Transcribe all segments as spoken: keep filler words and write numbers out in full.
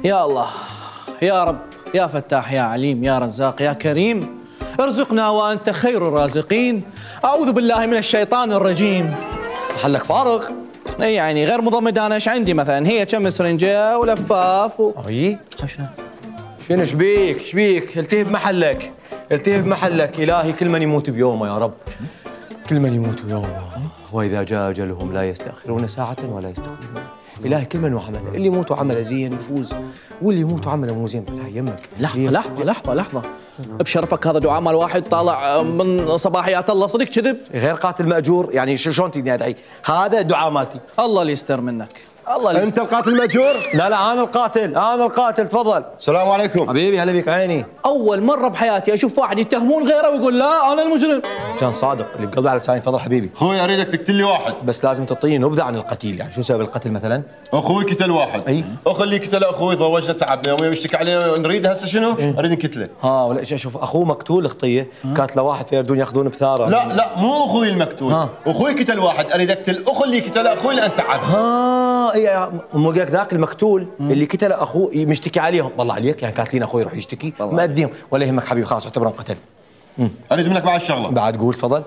يا الله يا رب يا فتاح يا عليم يا رزاق يا كريم ارزقنا وأنت خير الرازقين. أعوذ بالله من الشيطان الرجيم. محلك فارغ؟ اي يعني غير مضمد. انا ايش عندي مثلا؟ هي كم سرنجه ولفاف و... اي شنو شبيك شبيك؟ التهي بمحلك التهي بمحلك. الهي كل من يموت بيومه يا رب، كل من يموت بيومه، واذا جاء اجلهم لا يستاخرون ساعه ولا يستقدمون. الهي كل من وعمله، اللي يموت وعمله زين يفوز، واللي يموت وعمله مو زين فتح يمك. لحظه لحظه لحظه لحظه بشرفك، هذا دعاء مال واحد طالع من صباحيات الله، صدق كذب؟ غير قاتل ماجور يعني شلون تقدر ادعي؟ هذا دعاء مالتي. الله اللي يستر منك، الله اللي انت القاتل المأجور؟ لا لا انا القاتل، انا القاتل. تفضل. السلام عليكم حبيبي. هلا بك عيني. اول مره بحياتي اشوف واحد يتهمون غيره ويقول لا انا المجرم. كان صادق اللي بقلبه على لساني. تفضل حبيبي. اخوي اريدك تقتل لي واحد، بس لازم تعطيني نبذه عن القتيل، يعني شو سبب القتل مثلا؟ اخوي قتل واحد. اي اخو اللي قتله اخوي ضوجنا تعبنا يوم يشتكي علينا، نريد هسه شنو؟ إيه؟ اريد نقتله. ها ولا شوف اخوه مقتول خطيه، كاتله واحد فيردون ياخذون بثاره. لا لا مو اخوي المقتول، ها. اخوي قتل واحد، اريد اقتل اخو اللي قتله اخوي اللي انت تعب. ها اي مو قالك ذاك المقتول اللي قتل اخوه مشتكي عليهم. والله عليك يعني كاتلين اخوي يروح يشتكي مأذيهم. ولا يهمك حبيبي خلاص اعتبره انقتل. اريد منك بعد شغله. بعد قول. تفضل.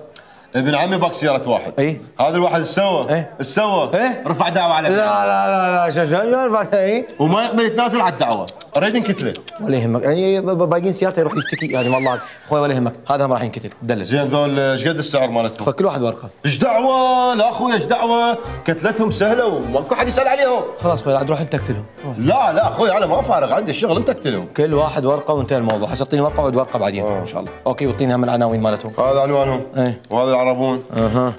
ابن عمي باك سيارة واحد. اي هذا الواحد ايش سوى؟ ايه ايش سوى؟ ايه رفع دعوة على لا لا لا لا شو شو اي وما يقبل يتنازل على الدعوة، اريد نقتله. ولا يهمك يعني باقيين سيارته يروح يشتكي يعني والله اخوي ولا يهمك، هذا هم راح ينقتل. دلس. زين ذول ايش قد السعر مالتهم؟ خذ كل واحد ورقه. ايش دعوة؟ لا اخوي ايش دعوة؟ قتلتهم سهلة وماكو حد يسأل عليهم. خلاص اخوي عاد روح انت اقتلهم. لا لا اخوي انا ما فارغ، عندي الشغل، انت اقتلهم. كل واحد ورقه وانتهى الموضوع. حس تعطيني ورقه وعد ورقه بعدين آه. ان شاء الله. اوكي واعطيني هم العناوين مالتهم. هذا عنوانهم. ايه وهذا العربون. اها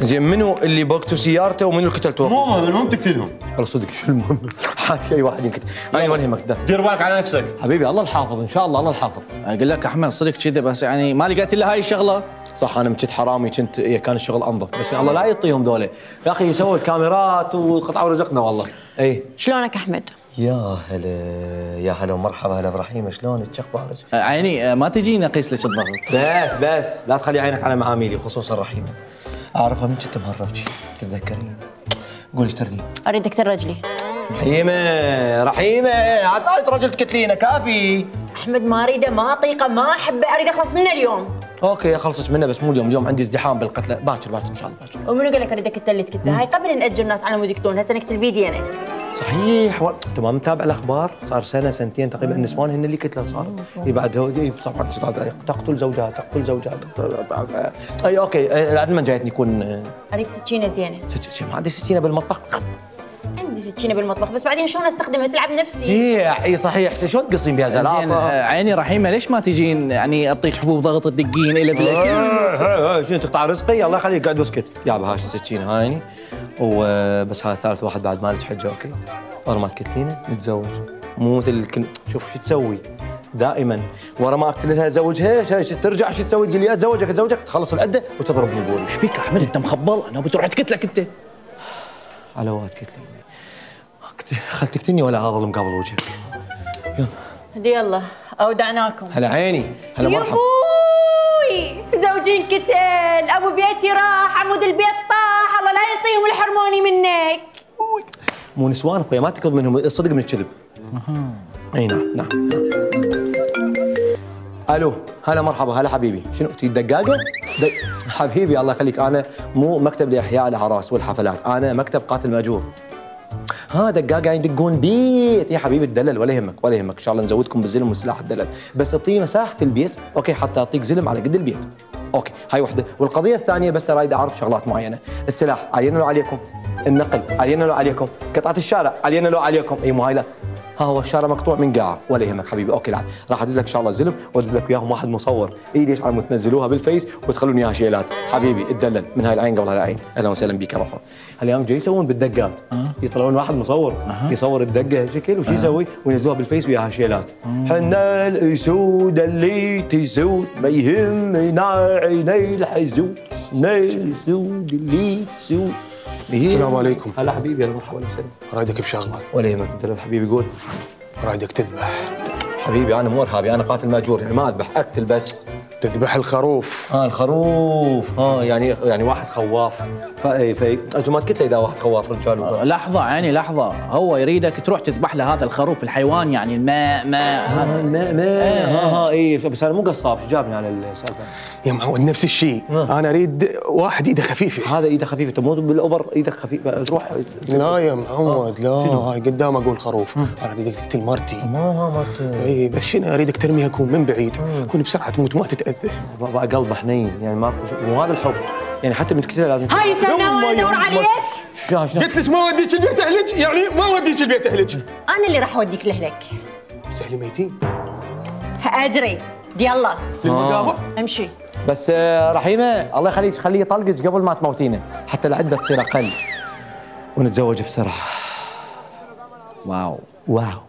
زين منو اللي بوقتوا سيارته ومنو اللي قتلته؟ مو مهم، المهم تقتلهم. والله صدق شو المهم؟ حاد في اي واحد ينقتل. اي ولا يهمك. دير بالك على نفسك حبيبي الله الحافظ ان شاء الله، الله الحافظ. اقول لك احمد صدق كذا، بس يعني ما لقيت الا هاي الشغله. صح انا كنت حرامي، كنت إيه كان الشغل انظف، بس الله لا يعطيهم ذولا يا اخي يسووا الكاميرات وقطعوا رزقنا والله. اي شلونك احمد؟ يا هلا يا هلا ومرحبا. هلا ابراهيم شلونك؟ شو اخبارك؟ عيني ما تجيني اقيس لك الضغط. بس بس لا تخلي عينك على معاميلي خصوصا رحيمه. اعرفها من كنت مهربتي تتذكرين؟ قولي ايش تردين؟ اريد اكتر رجلي. رحيمه رحيمه عاد ثالث رجل تكتلينه كافي. احمد ما اريده ما اطيقه ما احبه، اريد اخلص منه اليوم. اوكي اخلصك منه بس مو اليوم، اليوم عندي ازدحام بالقتله. باكر باكر ان شاء الله باكر. ومنو قال لك اريد اقتل اللي تكتله؟ هاي قبل ناجر الناس على مود يقتلون، هسه نقتل بيدي انا. صحيح و... انت ما متابع الاخبار؟ صار سنه سنتين تقريبا النسوان هن اللي قتلوا صاروا. اي بعد هو طبعا تقتل زوجات تقتل زوجات تقتل... اي اوكي عاد من جايتني يكون. اريد سكينه زينه. سكينه ما عندي سكينه بالمطبخ. عندي سكينه بالمطبخ بس بعدين شلون استخدمها؟ تلعب نفسي. اي اي صحيح. شلون تقصين بها زلاطه؟ عيني رحيمه ليش ما تجين يعني اعطيك حبوب ضغط تدقين الى بالاكل؟ شنو تقطع رزقي؟ الله يخليك قاعد واسكت. يابا هاي السكينه هايني وبس. هذا ثالث واحد بعد مالك حجه. اوكي ورا ما تكتلينه نتزوج، مو مثل كن... شوف شو تسوي دائما ورا ما اقتلها ازوجها، ترجع شو تسوي؟ تقول لي اتزوجك اتزوجك تخلص العده وتضربني بقول. ايش بيك احمد انت مخبل؟ انا بتروح تقتلك انت. على واد قتلي خل تقتلني ولا اظل مقابل وجهك. يلا هدي الله اودعناكم. هلا عيني هلا مرحبا. يبوي زوجي انقتل، ابو بيتي راح، عمود البيت طاح، الله لا يعطيهم ويحرموني منك. مو نسوان اخويا ما تقض منهم الصدق من الكذب. اي نعم نعم. الو هلا مرحبا. هلا حبيبي شنو تريد دقاقه؟ دق... حبيبي الله يخليك انا مو مكتب لاحياء الاعراس والحفلات، انا مكتب قاتل ماجور. ها دقاقه يدقون بيت يا حبيبي تدلل ولا يهمك ولا يهمك ان شاء الله نزودكم بالزلم والسلاح الدلل، بس اعطيني مساحه البيت اوكي حتى اعطيك زلم على قد البيت. اوكي هاي وحده. والقضيه الثانيه بس اريد اعرف شغلات معينه، السلاح علينا لو عليكم؟ النقل علينا لو عليكم؟ قطعه الشارع علينا لو عليكم؟ اي مو هاي لا. ها هو الشارع مقطوع من قاع ولا يهمك حبيبي. اوكي لا راح ادز لك ان شاء الله زلم وادز لك وياهم واحد مصور. اي ليش عم تنزلوها بالفيس وتخلون اياها شيلات حبيبي اتدلل من هاي العين قبل هاي العين. اهلا وسهلا بك يا مرحبا. هالايام جاي يسوون بالدقات أه؟ يطلعون واحد مصور أه؟ يصور الدقه شكل وش يسوي وينزلوها بالفيس وياها شيلات. حنا الاسود اللي تسود ما يهمنا عيني الحزود، حنا الاسود اللي تسود. السلام عليكم. هلا حبيبي هلا مرحبا وسهلا. رايدك بشغله ولا يهمك دلل حبيبي قول. رايدك تذبح. حبيبي انا مو ارهابي، انا قاتل ماجور يعني ما اذبح اقتل بس. تذبح الخروف. اه الخروف، اه يعني يعني واحد خواف. فاي فاي انتم ما قلت لي اذا واحد خواف رجال. لحظة عيني لحظة، هو يريدك تروح تذبح له هذا الخروف الحيوان، يعني الماء ماء ماء ماء ها ها اي، بس انا مو قصاب، شو جابني على السالفة؟ يا معود نفس الشيء، انا اريد واحد ايده خفيفه. هذا ايده خفيفه، انت مو بالاوبر ايدك خفيفه تروح. لا يا معود لا، هاي قدام اقول خروف، انا اريدك تقتل مرتي. ما مرتي. اي بس شنو اريدك ترميها كون من بعيد، كون بسرعه تموت ما تتاذى. بابا قلبه حنين يعني، ما مو هذا الحب يعني، حتى من تقتلها لازم. هاي انت ناوي ادور عليك؟ شلون شلون؟ قلت لك ما وديك البيت اهلك، يعني ما وديك البيت اهلك. انا اللي راح اوديك لاهلك. سهل ميتين. ادري، يلا للمقابر امشي. بس آه، رحيمه الله يخليك خليه يطلقك قبل ما تموتينه، حتى العده تصير اقل ونتزوج بسرعه. واو واو.